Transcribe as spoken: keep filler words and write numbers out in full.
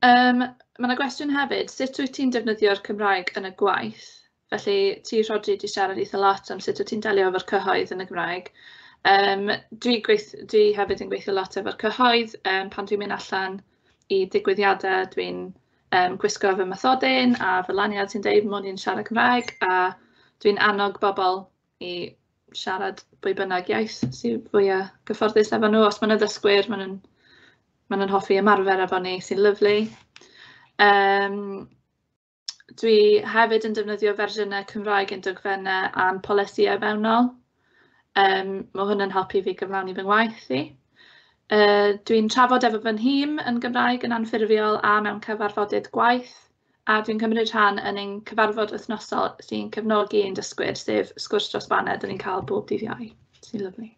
Um, mae yna gwestiwn hefyd, sut wyt ti'n defnyddio'r Cymraeg yn y gwaith? Felly ti, Rhodri, 'di siarad eitha lot am sut wyt ti'n delio efo'r cyhoedd yn y Gymraeg. Um, dwi, gweith, dwi hefyd yn gweithio lot efo'r cyhoedd. Um, pan dwi'n mynd allan i digwyddiadau, dwi'n um, gwisgo fy mathodyn a fy lanyard sy'n deud mod i'n siarad Cymraeg, a dwi'n annog bobl i siarad pwy bynnag iaith sydd fwyaf gyfforddus efo nhw. Os maen nhw'n ddysgwyr, maen nhw'n maen nhw'n hoffi ymarfer efo ni, sy'n lyfli. Um, dwi hefyd yn defnyddio fersiynau Cymraeg yn dogfennau a'n polisïau mewnol. Um, mae hwn yn helpu fi gyflawni fy ngwaith i. Uh, dwi'n trafod efo fy nhîm yn Gymraeg yn anffurfiol a mewn cyfarfodydd gwaith, a dwi'n cymryd rhan yn ein cyfarfod wythnosol sy'n cefnogi ein dysgwyr, sef Sgwrs dros Baned, dyn ni'n cael bob dydd Iau, sy'n lyfli.